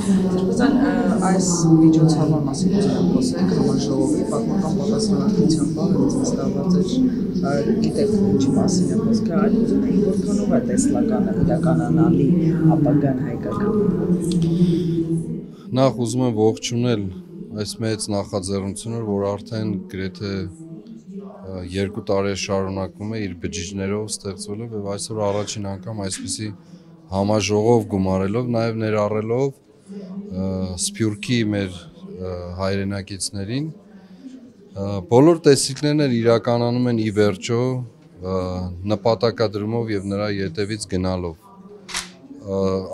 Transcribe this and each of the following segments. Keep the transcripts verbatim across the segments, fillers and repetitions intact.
Դերբազան այս միջոցառման մասին խոսենք համաժողովի պատմական պատասխանատվության բանը ստացված էր գիտեք ինչի մասին է խոսքը, այլ ուզում էի որքանով է տեսլականը իրականանալի ապագան հայկական։ Նախ ուզում եմ ողջունել այս մեծ նախաձեռնությունը, որ արդեն գրեթե երկու տարի շարունակվում է իր բջիջներով ստեղծվելով եւ այսօր առաջին անգամ այսպիսի համաժողով գումարելով, նաեւ ներառելով Սփյուռքի մեր հայրենակիցներին բոլոր տեսիլքներն իրականանում են ի վերջո նպատակադրումով եւ նրա ետևից գնալով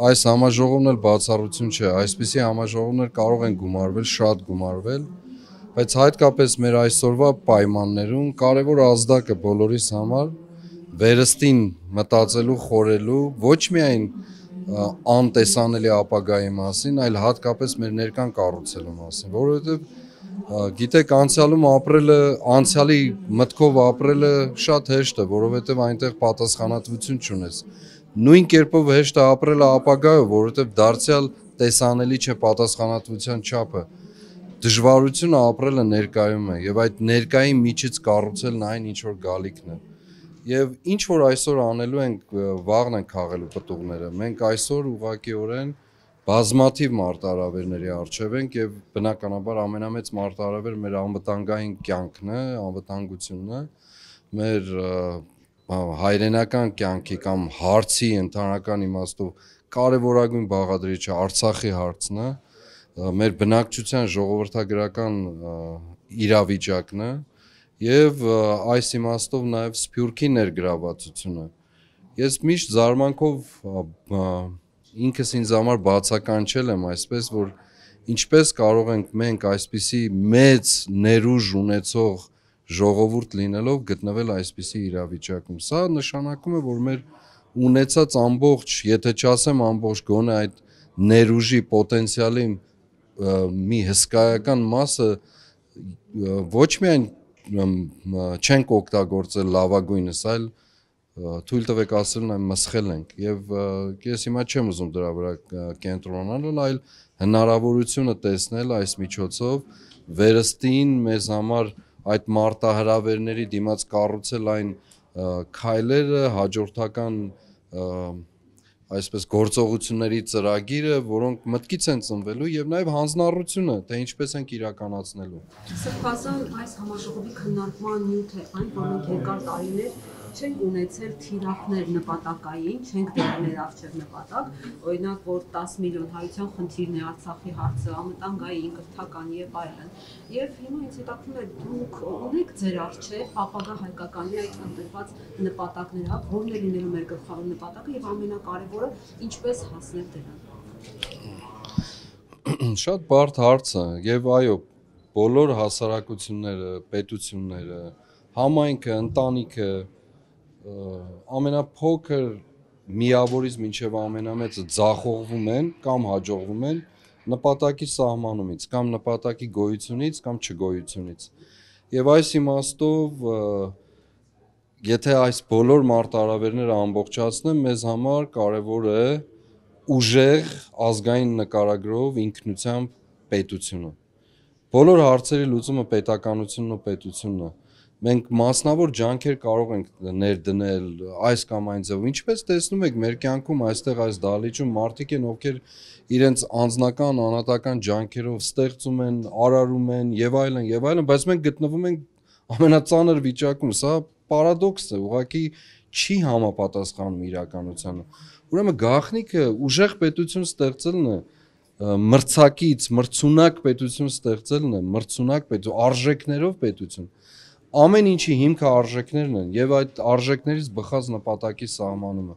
այս համաժողովն էլ բացառություն չէ այսպիսի համաժողովներ կարող են գումարվել շատ գումարվել բայց հատկապես մեր այսօրվա պայմաններում կարևոր ազդակը բոլորիս համար վերստին մտածելու խորելու ոչ միայն անտեսանելի ապագայի մասին, այլ հատկապես մեր ներկան կառուցելու մասին, որովհետև գիտեք անցյալում ապրելը, անցյալի մտքով ապրելը շատ հեշտ է, որովհետև այնտեղ պատասխանատվություն չունես։ Նույն կերպով հեշտ է ապրելը ապագայով, որովհետև դարձյալ տեսանելի չէ պատասխանատվության չափը։ Դժվարությունը ապրելը ներկայում է, եւ այդ ներկայի միջից կառուցելն այն ինչ որ գալիքն է։ Եվ ինչ որ այսօր անելու ենք վաղն են քաղելու պտուղները մենք այսօր ուղղակիորեն բազմաթիվ մարտահրավերների առջև ենք եւ բնականաբար ամենամեծ մարտահրավերը մեր անվտանգային կյանքն է անվտանգությունն է մեր հայրենական կյանքի կամ հարցի ընդհանրական իմաստով կարևորագույն բաղադրիչը Արցախի հարցն է մեր բնակչության ժողովրդագրական իրավիճակն է Եվ այս իմաստով նաև Սփյուռքի ներգրավվածությունը։ Ես միշտ զարմանքով ինքս ինձ համար բացականչել եմ այսպես, որ ինչպես կարող ենք մենք այսպիսի մեծ ներուժ ունեցող ժողովուրդ լինելով գտնվել այսպիսի իրավիճակում։ Սա նշանակում է, որ մեր ունեցած ամբողջ, եթե չասեմ ամբողջ գոնե այդ ներուժի պոտենցիալի մի հսկայական մասը ոչ միայն չենք օգտագործել լավագույնս, այլ թույլ տվեք ասելն այն մսխել ենք եւ ես հիմա չեմ ուզում դրա վրա կենտրոնանալ, այլ հնարավորությունը տեսնել այս միջոցով վերստին մեզ համար այդ մարտահրավերների դիմաց կառուցել այն քայլերը հաջորդական այսպես գործողությունների ծրագիրը, որոնք մտքից են ծնվելու եւ նաեւ հանձնառությունը, թե ինչպես ենք իրականացնելու։ Սրբազան այս համաժողովի քննարկման նյութ է այն, որ մենք երկար տարիներ չենք ունեցել թիրախներ նպատակային, չենք դրել ներառչև նպատակ, օրինակ որ տասը միլիոն հայության խնդիրն է Արցախի հարցը, անվտանգային, կրթական եւ այլն։ Եվ հիմա ինձ հետաքրքրում է դուք ունեք ձեր առջև ապագա հայկականի այդ ընդգրկված նպատակները, որն է լինելու մեր գլխավոր նպատակը եւ ամենակարևորը ինչպես հասնել դրան։ Շատ բարդ հարց է եւ այո բոլոր հասարակությունները, պետությունները, համայնքը, ընտանիքը ամենափոքր միավորից մինչև ամենամեծը ձախողվում են կամ հաջողվում են նպատակի սահմանումից կամ նպատակի գոյությունից կամ չգոյությունից։ Եվ այս իմաստով եթե այս բոլոր մարտահրավերները ամբողջացնեմ, մեզ համար կարևոր է ուժեղ ազգային նկարագրով ինքնությամբ պետությունը։ Բոլոր հարցերի լուծումը պետականությունն ու պետությունն է։ Մենք մասնավոր ջանքեր կարող ենք ներդնել այս կամ այն ձևով։ Ինչպես տեսնում եք մեր կյանքում այստեղ այս դահլիճում մարդիկ են, ովքեր իրենց անձնական, անհատական ջանքերով ստեղծում են, արարում են եւ այլն եւ այլն, բայց մենք գտնվում ենք ամենածանր վիճակում։ Սա պարադոքս է, ուղղակի չի համապատասխանում իրականությանը։ Ուրեմն գաղտնիքը ուժեղ պետություն ստեղծելն է մրցակից, մրցունակ պետություն ստեղծելն է, մրցունակ պետություն, արժեքներով պետություն։ Ամեն ինչի հիմքը արժեքներն են եւ այդ արժեքներից բխած նպատակի սահմանումը։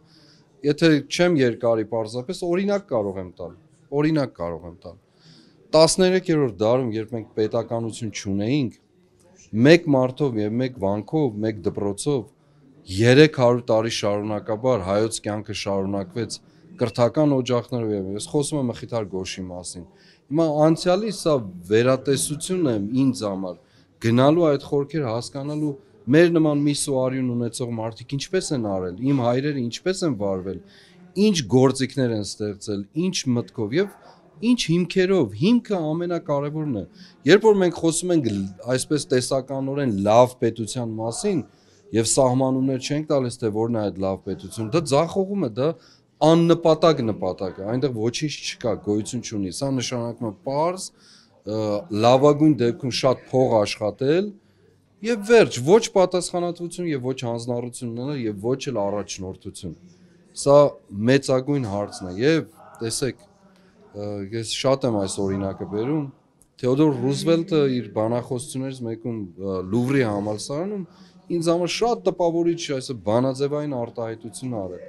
Եթե չեմ երկարի պարզապես օրինակ կարող եմ տալ, օրինակ կարող եմ տալ։ տասներեքերորդ դարում, երբ մենք պետականություն չունեինք, մեկ մարդով եւ մեկ վանքով, մեկ դպրոցով երեք հարյուր տարի շարունակաբար հայոց կյանքը շարունակվեց կրթական օջախներով եւ ես խոսում եմ Մխիթար Գոշի մասին։ Հիմա անցյալի սա վերատեսությունն է ինձ համար գնալու այդ խորքերը հասկանալու մեր նման մի սուարյուն ունեցող մարդիկ ինչպես են արել, իմ հայրերը ինչպես են վարվել, ինչ գործիքներ են ստեղծել, ինչ մտքով եւ Ինչ հիմքերով, հիմքը ամենակարևորն է։ Երբ որ մենք խոսում ենք այսպես տեսականորեն լավ պետության մասին եւ սահմանումներ չենք տալիս, թե որն է այդ լավ պետությունը, դա ձախողում է, դա աննպատակ նպատակ է, այնտեղ ոչինչ չկա, գոյություն չունի։ Սա նշանակում է պարզ լավագույն դեպքում շատ փող աշխատել եւ վերջ, ոչ պատասխանատվություն եւ ոչ հանձնառություն ունենալ եւ ոչ էլ առաջնորդություն։ Սա մեծագույն հարցն է եւ տեսեք, ես շատ եմ այս օրինակը բերում, Թեոդոր Ռուզվելտը իր բանախոսություններից մեկում Լուվրի համալսարանում ինձ համար շատ տպավորիչ այսը բանաձևային արտահայտություն արել։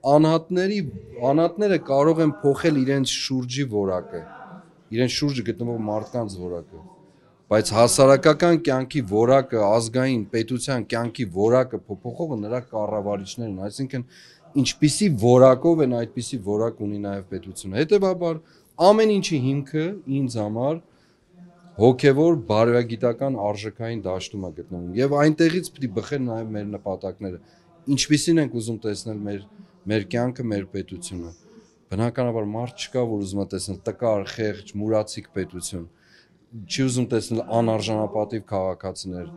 Անհատների անհատները կարող են փոխել իրենց շուրջի որակը, իրենց շուրջը գտնվող մարդկանց որակը, բայց հասարակական կյանքի որակը, ազգային պետության կյանքի որակը փոփոխողը նրա կառավարիչներն, այսինքն ինչպիսի որակով են այդպիսի որակ ունի նաև պետությունը։ Հետևաբար ամեն ինչի հիմքը ինձ համար հոգևոր բարոյագիտական արժեքային դաշտում է գտնվում եւ այնտեղից պիտի բխեն նաև մեր նպատակները, ինչպիսին ենք ուզում տեսնել մեր մեր կյանքը, մեր պետությունը։ Բնականաբար մարդ չկա, որ ուզում է տեսնել տկար, խեղճ, մուրացիկ պետություն, չի ուզում տեսնել անարժանապատիվ քաղաքացիներ,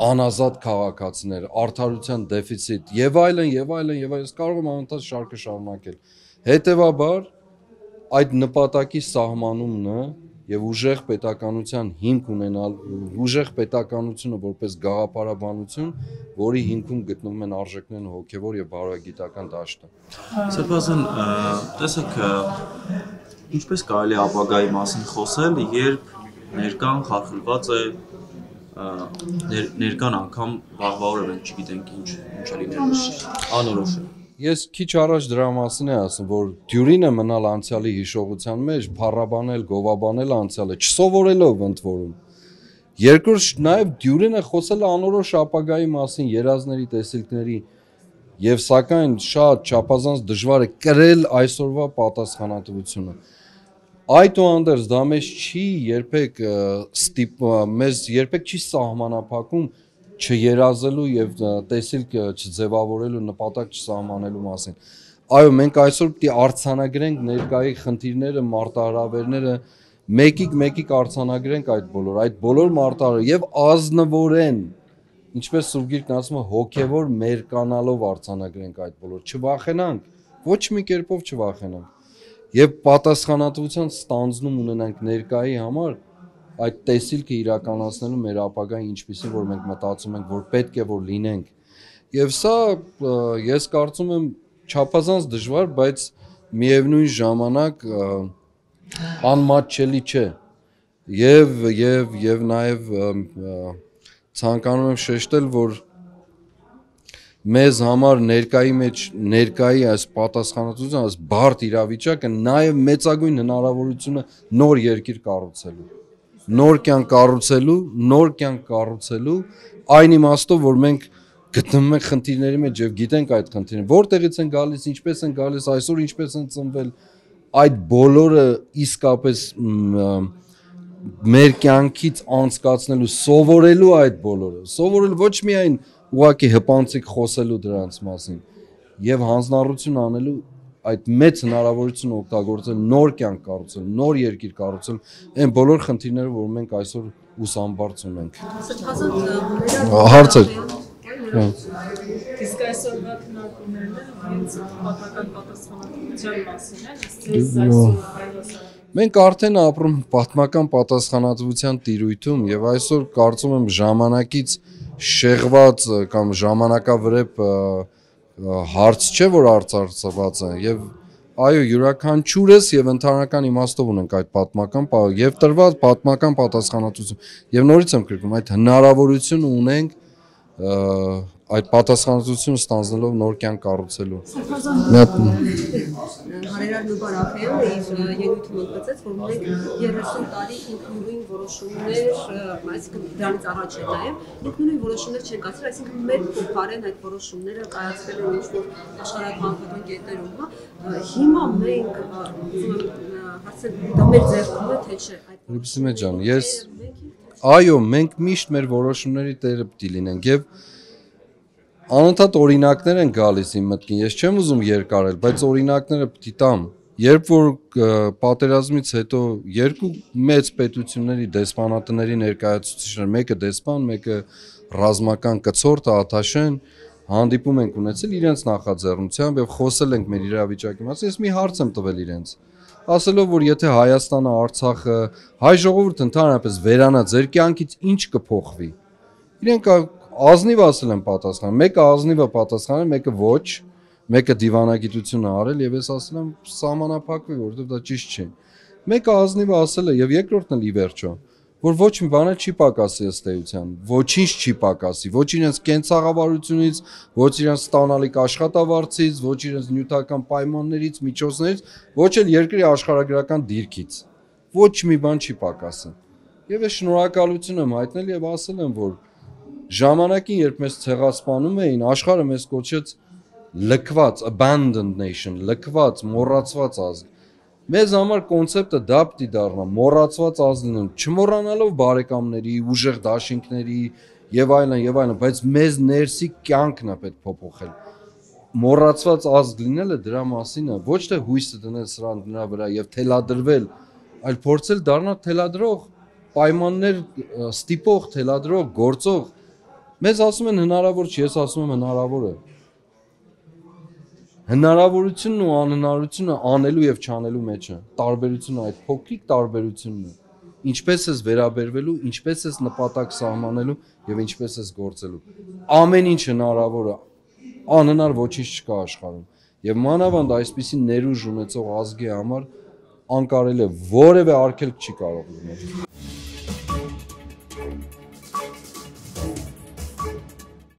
անազատ քաղաքացիներ, արդարության դեֆիցիտ եւ այլն եւ այլն եւ այլն, կարող եմ անընդհատ շարքը շարունակել։ Հետևաբար այդ նպատակի սահմանումն է եւ ուժեղ պետականության հիմք ունենալ, ուժեղ պետականությունը որպես գաղափարաբանություն, որի հիմքում գտնվում են արժեքներն հոգեվոր եւ բարոյագիտական դաշտը։ Սրբազան, տեսեք, ինչպես կարելի է ապագայի մասին խոսել, երբ ներկան խարխլված է, ներկան անգամ վաղվա օրը մենք չգիտենք ինչ ինչ է լինելու, անորոշ է։ Ես քիչ առաջ դրա մասին եմ ասում, որ դյուրին է մնալ անցյալի հիշողության մեջ, փառաբանել, գովաբանել անցյալը, չսովորելով ընդ որում։ Երկրորդ նաև դյուրին է խոսել անորոշ ապագայի մասին, երազների, տեսիլքների, եւ սակայն շատ չափազանց դժվար է կրել այսօրվա պատասխանատվությունը։ Այդուհանդերձ դա մեզ չի երբեք ստիպ մեզ երբեք չի սահմանափակում չերազելու եւ տեսիլք չձևավորելու նպատակ չսահմանելու մասին։ Այո, մենք այսօր պիտի արձանագրենք ներկայի խնդիրները, մարտահրավերները, մեկիկ մեկիկ արձանագրենք այդ բոլոր, այդ բոլոր մարտահրավերը եւ ազնվորեն, ինչպես Սուրբ Գիրքն ասում է, հոգեվոր մերկանալով արձանագրենք այդ բոլոր, չվախենանք, ոչ մի կերպով չվախենանք։ Եվ պատասխանատվության ստանձնում ունենանք ներկայի համար այդ տեսիլքը իրականացնելու մեր ապագային ինչպիսին, որ մենք մտածում ենք, որ պետք է որ լինենք։ Եվ սա ես կարծում եմ չափազանց դժվար, բայց միևնույն ժամանակ անմատչելի չէ։ Եվ եւ եւ նաեւ ցանկանում եմ շեշտել, որ մեզ համար ներկայի մեջ ներկայի այս պատասխանատվությունը, այս բարդ իրավիճակը նաև մեծագույն հնարավորությունը նոր երկիր կառուցելու, նոր կյանք կառուցելու, նոր կյանք կառուցելու, այն իմաստով, որ մենք գտնվում ենք խնդիրների մեջ եւ գիտենք այդ խնդիրները, որտեղից են գալիս, ինչպես են գալիս, այսօր ինչպես են ծնվել, այդ բոլորը իսկապես մեր կյանքից անցկացնելու, սովորելու այդ բոլորը, սովորել ոչ միայն ուղղակի հպանցիկ խոսելու դրանց մասին եւ հանձնառություն անելու այդ մեծ հնարավորությունը օգտագործել նոր կյանք կառուցել, նոր երկիր կառուցել, այն բոլոր խնդիրները, որ մենք այսօր ուսամբարձ ունենք։ Հարցը Իսկ այսօրվա քննարկումներն հենց պատմական պատասխանատվության մասին են, ըստ այսօր Մենք արդեն ապրում պատմական պատասխանատվության տիրույթում եւ այսօր կարծում եմ ժամանակից շեղված կամ ժամանակավրեպ հարց չէ, որ արծարծված է եւ այո յուրաքանչյուրս եւ ընդհանրական իմաստով ունենք այդ պատմական եւ տրված պատմական պատասխանատվություն եւ նորից եմ կրկնում այդ հնարավորությունը ունենք այդ պատասխանատվությունը ստանձնելով նոր կյանք կառուցելու։ Հարերար Նուբարախյանը իր ելույթում ընդգծեց, որ մենք երեսուն տարի ինքնուրույն որոշումներ, այսինքն դրանից առաջ է նաև ինքնուրույն որոշումներ չեն կայացրել, այսինքն մեր փոխարեն այդ որոշումները կայացվել են ինչ-որ աշխարհագրական կետերում, հա։ Հիմա մենք ուզում եմ հարցնել, դա մեր ձեռքում է, թե չէ։ Ռուբսիմե ջան, ես այո, մենք միշտ մեր որոշումների տերը պիտի լինենք եւ անընդհատ օրինակներ են գալիս իմ մտքին, ես չեմ ուզում երկարել, բայց օրինակները պիտի տամ երբ որ պատերազմից հետո երկու մեծ պետությունների դեսպանատների ներկայացուցիչներ, մեկը դեսպան, մեկը ռազմական կցորդ Աթաշեն հանդիպում ենք ունեցել իրենց նախաձեռնությամբ եւ խոսել ենք մեր իրավիճակի մասին։ Ես մի հարց եմ տվել իրենց, ասելով որ եթե Հայաստանը, Արցախը, հայ ժողովուրդը ընդհանրապես վերանա, ձեր կյանքից ինչ կփոխվի։ Իրենք ազնիվ ասել են պատասխան, մեկը ազնիվը պատասխանել, մեկը ոչ, մեկը դիվանագիտություն է արել եւ ես ասել եմ սահմանափակվի, որովհետեւ դա ճիշտ չէ։ Մեկը ազնիվը ասել է եւ երկրորդն էլ ի վերջո, որ ոչ մի բան չի պակասի ըստ էության, ոչինչ չի պակասի, ոչ իրենց կենցաղավարությունից, ոչ իրենց ստանալիք աշխատավարձից, ոչ իրենց նյութական պայմաններից, միջոցներից, ոչ էլ երկրի աշխարհագրական դիրքից։ Ոչ մի բան չի պակասի։ Եվ ես շնորհակալություն եմ հայտնել եւ ասել եմ, որ ժամանակին, երբ մեզ ցեղասպանում էին, աշխարհը մեզ կոչեց լքված, abandoned nation, լքված, մոռացված ազգ։ Մեզ համար կոնցեպտը դա պիտի դառնա, մոռացված ազգ, չմոռանալով բարեկամների, ուժեղ դաշինքների եւ այլն եւ այլն, բայց մեզ ներսի կյանքն է պետք փոփոխել։ Մոռացված ազգ լինելը դրա մասին է, ոչ թե հույսը դնել սրան դրա վրա եւ թելադրվել, այլ փորձել դառնալ թելադրող, պայմաններ ստիպող, թելադրող, գործող։ Մեզ ասում են հնարավոր չի, ես ասում եմ հնարավոր է։ Հնարավորությունն ու անհնարությունը անելու եւ չանելու մեջ է։ Տարբերությունը այդ փոքրիկ տարբերությունն է։ Ինչպես ես վերաբերվելու, ինչպես ես նպատակ սահմանելու եւ ինչպես ես գործելու։ Ամեն ինչ հնարավոր է։ Անհնար ոչինչ չկա աշխարհում։ Եվ մանավանդ այսպիսի ներուժ ունեցող ազգի համար անկարելի է, որևէ արգելք չի կարող լինել։